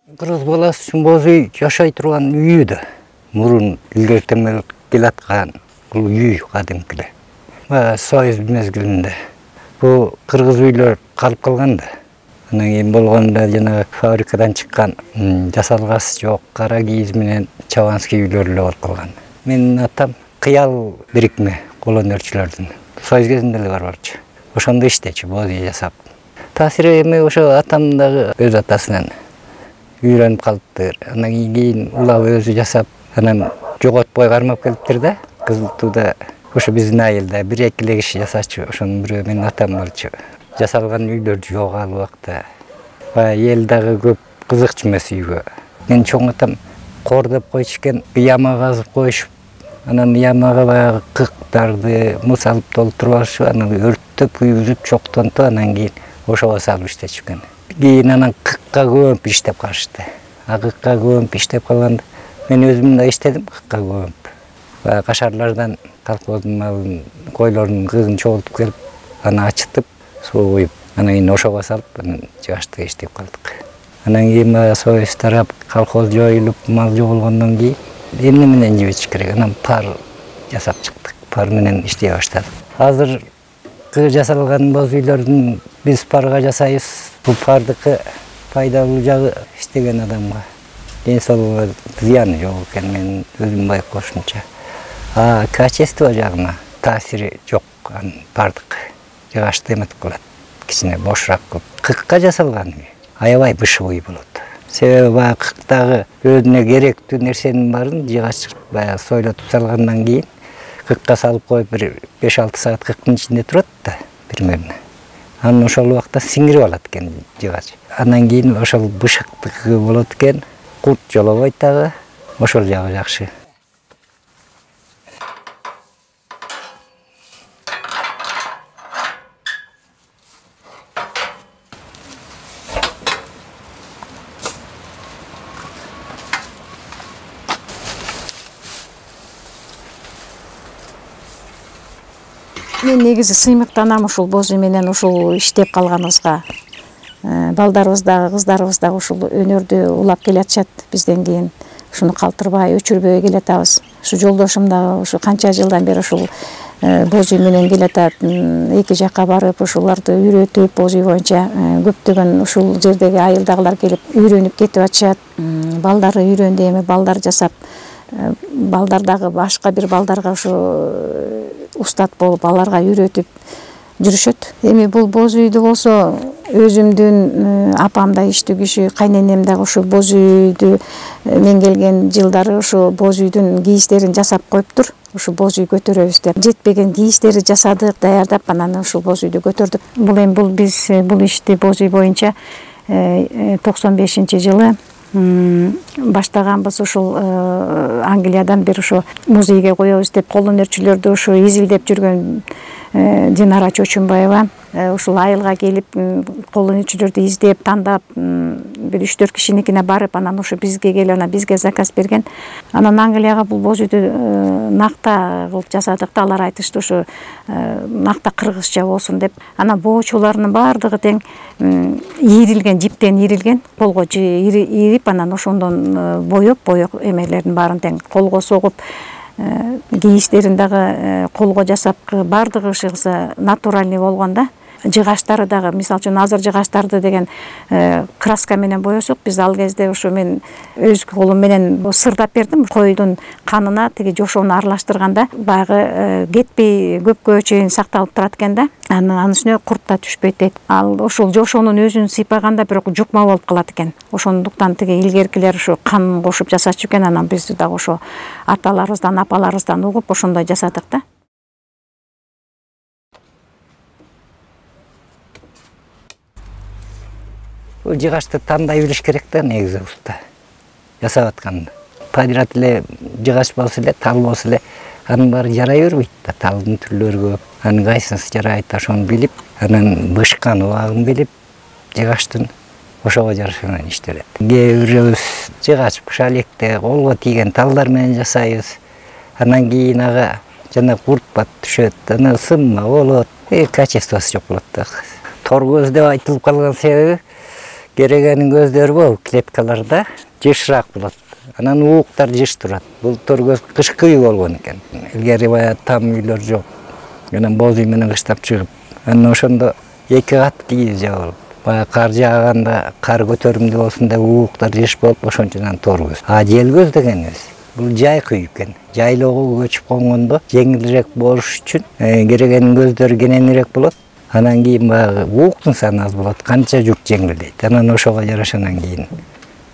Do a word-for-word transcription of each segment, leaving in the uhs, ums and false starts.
Кыргыз баласы үчүн боз үй жашай турган үйү да. Мурун илгертен келаткан бул үй кадимки эле. Баягы Союз мезгилинде бул кыргыз үйлөр калып калган да. Анан кийин болгондо жана фабрикадан чыккан жасалгасы жок кара кийиз менен чабанский үйлөр эле болуп калган. Менин атам кыял бирикме кол өнөрчүлөрдүн. Союз кезинде эле бар болчу. Ошондо иштечү боз үй жасап. Таасири эми ошо атам дагы өз атасынан үйрөнүп калыптыр. Анан кийин улап өзү жасап, анан жоготпой кармап келиптир да. Кызыл Тууда ошо биздин айылда бир эки эле киши жасачу. Ошонун бирөө менин атам болчу. Жасалган үйлөр жок ал убакта. Баягы эл дагы көп кызыкчу эмес үйгө. Мен чоң атам кор деп койчу экен, яма казып коюшуп, анан ямага баягы кыктарды мыс алып толтуруп алышып, анан өрттөп күйгүзүп чоктонтуп, анан кийин ошого салып иштечү экен. Кийин анан кыкка көмүп иштеп калышты. А кыкка көмүп иштеп калганда мен өзүм да иштедим кыкка көмүп. Баягы кашарлардан колхоздун малын, койлордун кыгын чогултуп келип, аны ачытып, суу куюп, анан кийин ошого салып, анан жыгачта иштеп калдык. Анан кийин баягы Союз тарап, колхоз жоюлуп, мал жоголгондон кийин эмне менен жибиш керек? Анан пар жасап чыктык. Пар менен иштей баштадык. Азыркы жасалган боз үйлөрдүн биз парга жасайбыз. Бул пардыкы пайдалуу жагы иштеген адамга ден соолугуна зыяны жок экен, мен өзүм байкошумча. А качество жагына таасири жок анын пардык. Жыгачты эметип калат. Кичине бошураак кылып. Кыкка жасалган үй аябай бышыбый болот. Себеби баягы кыктагы өзүнө керектүү нерсенин баарын жыгач баягы сойлотуп салгандан кийин кыкка салып коюп бир беш алты саат кыктын ичинде турат да примерно. Анан ошол убакта сиңирип алат экен жыгач. Андан кийин ошол бышыктыгы болот экен, курт жолобойт дагы. Ошол жагы жакшы. Мен негизи сыймыктанам ушул боз үй менен ушул иштеп калганыбызга. Балдарыбыз дагы, кыздарыбыз дагы ушул өнөрдү улап келатышат бизден кийин. Ушуну калтырбай, өчүрбөй келатабыз. Ушу жолдошум дагы ушу канча жылдан бери ушул боз үй менен келатат. Эки жакка барып, ушуларды үйрөтүп, боз үй боюнча көптөгөн ушул жердеги айылдагылар келип үйрөнүп кетип атышат. Балдары үйрөндү, эми балдар жасап, балдар дагы башка бир балдарга ушу устат болуп, аларга үйрөтүп жүрүшөт. Эми бул боз үйдү болсо өзүмдүн апам да иштүү киши, кайненем дагы ушу боз үйдү мен келген жылдары ушу боз үйдүн кийиздерин жасап коюптур. Ушу боз үй көтөрөбүз деп жетпеген кийиздерди жасадык, даярдап, анан ушул боз үйдү көтөрдүк. Бул эми бул биз бул ишти боз үй боюнча токсон бешинчи жылы баштаганбыз. Ушул Англиядан бир ушу музейге коебуз деп кол өнөрчүлөрдү ушу изилдеп жүргөн Динара Чочунбаева ушул айылга келип кол өнөрчүлөрдү издеп, тандап, бир үч төрт кишиникине барып, анан ушу бизге келип, анан бизге заказ берген. Анан Англияга бул боз үйдү накта кылып жасадык да, алар айтышты ушу накта кыргызча болсун деп. Анан боочуларынын баардыгы тең ийрилген, жиптен ийрилген, колго ийрип, анан ошондон боеп, боек эмелердин баарын тең колго согуп, кийиздерин дагы колго жасап, баардыгы ушугуса натуральный болгон да. Жыгаштары дагы, мисалы үчүн азыр жыгаштарды деген краска менен боесок, биз ал кезде ушу мен өз колум менен сырдап бердим. Койдун канына тиги жошоону аралаштырганда баягы кетпей көпкө чейин сакталып турат экен да. Анын үстүнө курт да түшпөйт дейт. Ал ошол жошоонун өзүн сыйпаганда бирок жукма болуп калат экен. Ошондуктан тиги илгеркилер ушу кан кошуп жасачу экен. Анан биз дагы ошо аталарыбыздан, апаларыбыздан угуп ошондой жасадык да. Жыгачты тандай билиш керек да негизи уста. Жасап атканда. Подряд эле жыгач болсо эле, тал болсо эле, анын баары жарай бербейт да. Талдын түрлөрү көп. Анын кайсысы жарайт, ошону билип, анан бышкан убагын билип, жыгачтын ошого жараша менен иштелет. Кээ бирөөбүз жыгач быша электе колго тийген талдар менен жасайбыз. Анан кийин ага жана курт бат түшөт, анан сынма болот. Э качествосы жок болот да. Тор көз деп айтылып калган себеби Керегенин көздөрү болуп клеткаларда жышыраак болот. Анан ууктар жыш турат. Бул тор көз кышкы үй болгон экен. Илгери баягы там үйлөр жок. Анан боз үй менен кыштап чыгып, анан ошондо эки кат кийиз жабылып. Баягы кар жааганда кар көтөрүмдүү болсун деп ууктар жыш болуп, ошончо тор көз. А жел көз дегенибиз бул жайкы үй экен. Жайлоого көчүп конгондо жеңилирээк болуш үчүн керегенин көздөрү кененирээк болот. Анан кийин баягы ууктун саны аз болот, канча жүк жеңилдейт. Анан ошого жараша анан кийин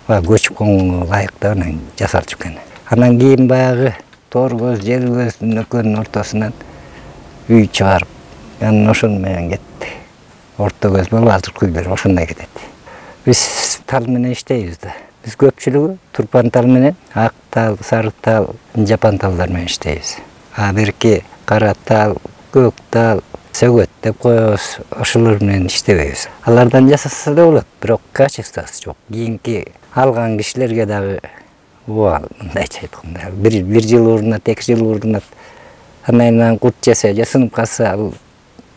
баягы көчүп конгонго ылайыктуу анан жасалчу экен. Анан кийин баягы тор көз, жел көздүн экөөнүн ортосунан үй чыгарып, анан ошону менен кетти. Орто көз болуп, азыркы үйлөр ошондой кетет. Биз тал менен иштейбиз да. Биз көпчүлүгү турпан тал менен, ак тал, сары тал, жапан талдар менен иштейбиз. А берки кара тал, көк тал, сөгөт деп коебуз, ошолор менен иштебейбиз. Алардан жасаса да болот, бирок качествосы жок. Кийинки алган кишилерге дагы ооба мындайча айтканда, бир бир жыл урунат, эки жыл урунат. Анан кут жесе, жасынып калса ал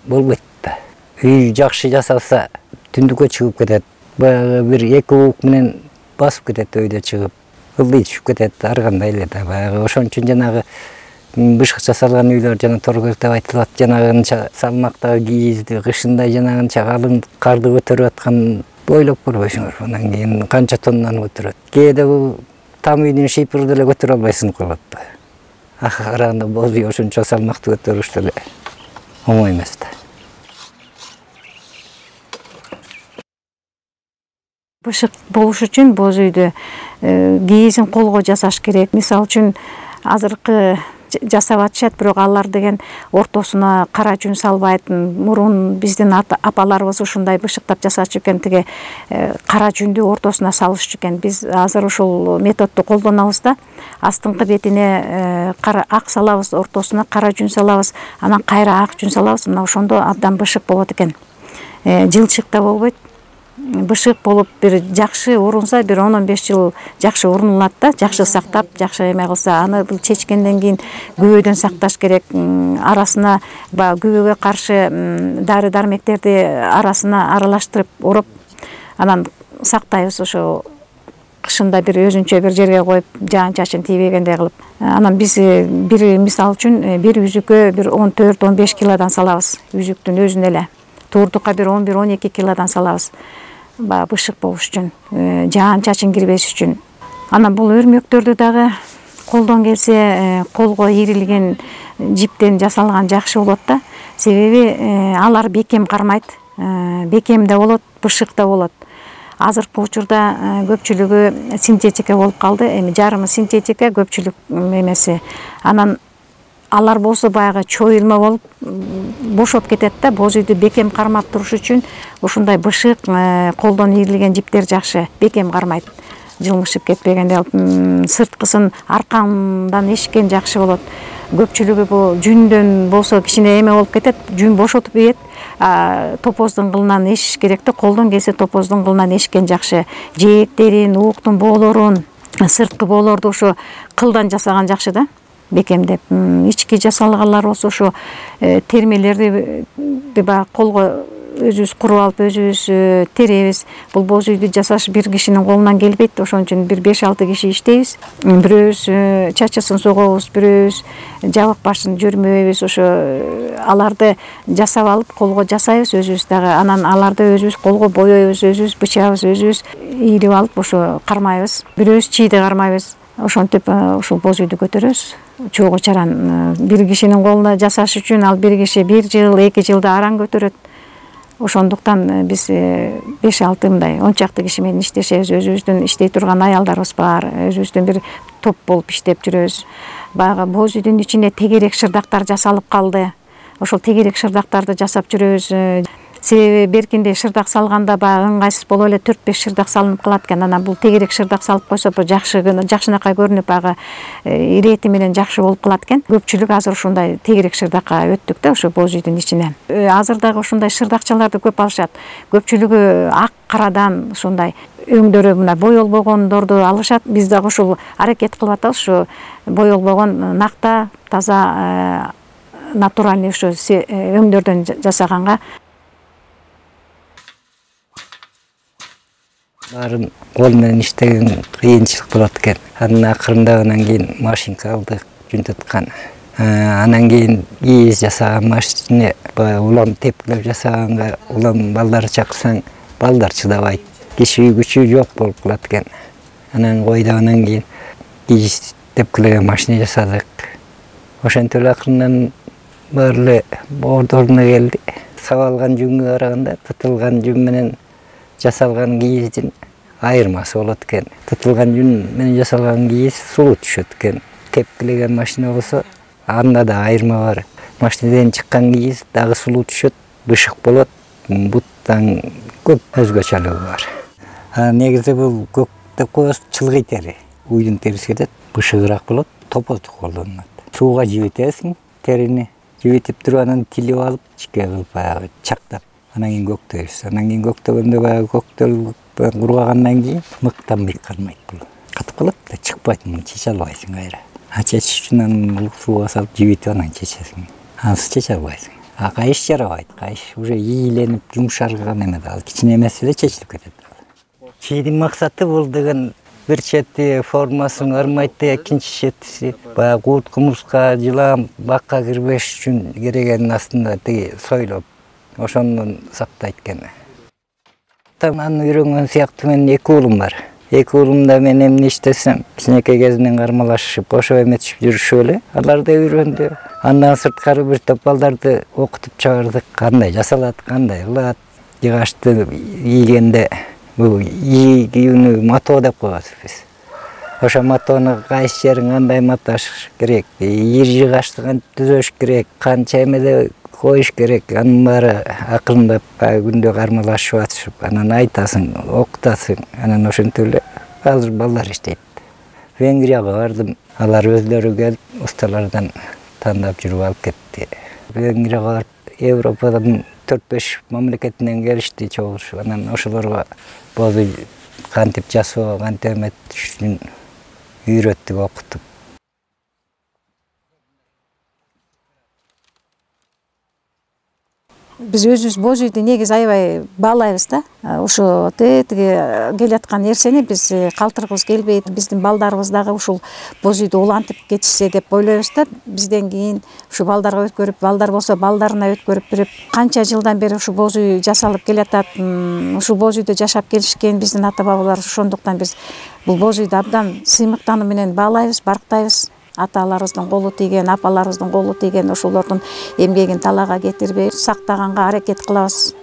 болбойт да. Үй жакшы жасалса, түндүккө чыгып кетет. Баягы бир эки уук менен басып кетет өйдө чыгып. Ылдый түшүп кетет, ар кандай эле да. Баягы ошон үчүн жанагы бышыкча салган үйлөр жана тор көз деп айтылат. Жанагынча салмактагы кийизди, кышында жанагынча калың карды көтөрүп аткан ойлоп көрбөйсүңөр. Анан кийин канча тоннаны көтөрөт. Кээде бул там үйдүн шийпырды деле көтөрө албай сынып калат да. Ага караганда боз үй ошончо салмакты көтөрүш деле оңой эмес да. Бышык болуш үчүн боз үйдө кийизин колго жасаш керек. Мисалы үчүн азыркы жасап атышат, бирок алар деген ортосуна кара жүн салбайт. Мурун биздин апаларыбыз ушундай бышыктап жасачу экен, тиги кара жүндү ортосуна салышчу экен. Биз азыр ушул методду колдонобуз да. Астыңкы бетине кара ак салабыз, ортосуна кара жүн салабыз, анан кайра ак жүн салабыз. Мына ошондо абдан бышык болот экен. Жылчык да болбойт. Бышык болуп бир жакшы урунса, бир он он беш жыл жакшы урнулат да, жакшы сактап, жакшы эме кылса, аны бул чечкенден кийин күбөдөн сакташ керек. Арасына баягы күбөгө каршы дары дармектерди арасына аралаштырып ороп, анан сактайбыз. Ошо кышында бир өзүнчө бир жерге коюп, жаан чачын тийбегендей кылып. Анан биз бир мисал үчүн бир үзүккө бир он төрт он беш килодан салабыз, үзүктүн өзүнө эле. Туурдукка бир он бир он эки килодан салабыз. Баягы бышык болуш үчүн, жаан чачын кирбеш үчүн. Анан бул өрмөктөрдү дагы колдон келсе, колго ийрилген жиптен жасалган жакшы болот да. Себеби алар бекем кармайт, бекем да болот, бышык да болот. Азыркы учурда көпчүлүгү синтетика болуп калды. Эми жарымы синтетика, көпчүлүк эмеси. Анан алар болсо баягы чоюлма болуп бошоп кетет да. Боз үйдү бекем кармап туруш үчүн ушундай бышык, колдон ийрилген жиптер жакшы, бекем кармайт. Жылмышып кетпегенде алып, сырткысын аркандан эшиккен жакшы болот. Көпчүлүгү бул жүндөн болсо кичине эме болуп кетет, жүн бошотуп ийет. Топоздун кылынан эшиш керек да, колдон келсе топоздун кылынан эшиккен жакшы. Жээктерин, ууктун боолорун, сырткы боолорду ошо кылдан жасаган жакшы да. Бекемдеп, ички жасалгалар болсо ошо термелерди баягы колго өзүбүз куруп алып, өзүбүз теребиз. Бул боз үйдү жасаш бир кишинин колунан келбейт, ошон үчүн бир беш алты киши иштейбиз. Бирөөбүз чачысын согобуз, бирөөбүз жабык башын жөрмөйбүз. Ошо аларды жасап алып, колго жасайбыз өзүбүз дагы. Анан аларды өзүбүз колго боёйбуз, өзүбүз бычабыз, өзүбүз ийрип алып, ошо кармайбыз. Бирөөбүз чийди кармайбыз. Ошентип ушул боз үйдү көтөрөбүз. Чогуу чаран бир кишинин колуна жасаш үчүн ал бир киши бир жыл, эки жылда аран көтөрөт. Ошондуктан биз беш алты мындай он чакты киши менен иштешебиз. Өзүбүздүн иштей турган аялдарыбыз бар. Өзүбүздүн бир топ болуп иштеп жүрөбүз. Баягы боз үйдүн ичине тегерек шырдактар жасалып калды. Ошол тегерек шырдактарды жасап жүрөбүз. Себеби беркинде шырдак салганда баягы ыңгайсыз болуп эле төрт беш шырдак салынып калат экен. Анан бул тегерек шырдак салып койсо жакшы жакшынакай көрүнүп, баягы ирети менен жакшы болуп калат экен. Көпчүлүк азыр ушундай тегерек шырдакка өттүк да, ошо боз үйдүн ичине. Азыр дагы ушундай шырдакчаларды көп алышат. Көпчүлүгү ак карадан ушундай өңдөрү мына боелбогондорду алышат. Биз дагы ушул аракет кылып атабыз, ушу боелбогон накта, таза натуральный ушу өңдөрдөн жасаганга. Баарын кол менен иштеген кыйынчылык болот экен. Анын акырында анан кийин машинка алдык, жөнтөткөн. Анан кийин кийиз жасаган машина, улам тепкилеп жасаганга улам балдар чакырсаң, балдар чыдабайт. Киши күчү жок болуп калат экен. Анан койдук, анан кийин кийиз тепкилеген машина жасадык. Ошентип эле акырындан баары эле ордоруна келди. Сабалган жүнгө караганда тытылган жүн менен жасалган кийиздин айырмасы болот экен. Тытылган жүн менен жасалган кийиз сулуу түшөт экен. Тепкилеген машина болсо анда да айырма бар. Машинадан чыккан кийиз дагы сулуу түшөт, бышык болот, буттан көп өзгөчөлүгү бар. А негизи бул көк деп коебуз, чылгый тери. Уйдун териси кетет, бышыгыраак болот, топоздук колдонулат. Сууга жибитесиң терини. Жибитип туруп анан тилип алып, чике кылып баягы чактап, анан кийин көктөйбүз. Анан кийин көктөгөндө баягы көктөлүп кургагандан кийин мыктан быйкалмайт бул. Катып калат да чыкпайт, муну чече албайсың кайра. А чечиш үчүн анан сууга салып жибитип анан чечесиң. Ансыз чече албайсың. А кайыш жарабайт. Кайыш уже ийиленип, жумшарган эме да, кичине эмес эле чечилип кетет. Чийдин максаты бул деген бир чети формасын армайт да, экинчи четиси баягы курт кумурска, жылан, бакка кирбеш үчүн керегенин астында тиги сойлоп, ошондон сактайт экен. Аны үйрөнгөн сыяктуу менин эки уулум бар. Эки уулум да мен эмне иштесем, кичинекей кезинен кармалашып, кошо эметишип жүрүшүп эле. Алар да үйрөндү. Андан сырткары бир топ балдарды окутуп чыгардык. Кандай жасалат, кандай кылат, жыгачты ийгенде бул ийгүүнү мато деп коебуз биз. Ошо матону кайсы жерин кандай маташ керек, ийир жыгачты кантип түзөш керек, канча эмеде коюш керек, анын баары акырындап күндө кармалашып атышып, анан айтасың, окутасың, анан ошентип эле азыр балдар иштейт. Венгрияга бардым, алар өздөрү келип усталардан тандап жүрүп алып кетти. Венгрияга Европадан төрт беш мамлекетинен келишти чогулуш. Анан ошолорго бозу кантип жасоо, кантип эметиш үчүн үйрөттүк, окуттук. Биз өзүбүз боз үйдү негизи аябай баалайбыз да. Ошо тетиги келаткан нерсени биз калтыргыбыз келбейт. Биздин балдарыбыз дагы ушул боз үйдү улантып кетишсе деп ойлойбуз да. Бизден кийин ушу балдарга өткөрүп, балдар болсо балдарына өткөрүп берип, канча жылдан бери ушу боз үй жасалып келатат. Ушул боз үйдө жашап келишкен биздин ата бабаларыбыз. Ошондуктан биз бул боз үйдү абдан сыймыктануу менен баалайбыз, барктайбыз. Аталарыбыздын колу тийген, апаларыбыздын колу тийген, ошолордун эмгегин талаага кетирбей сактаганга аракет кылабыз.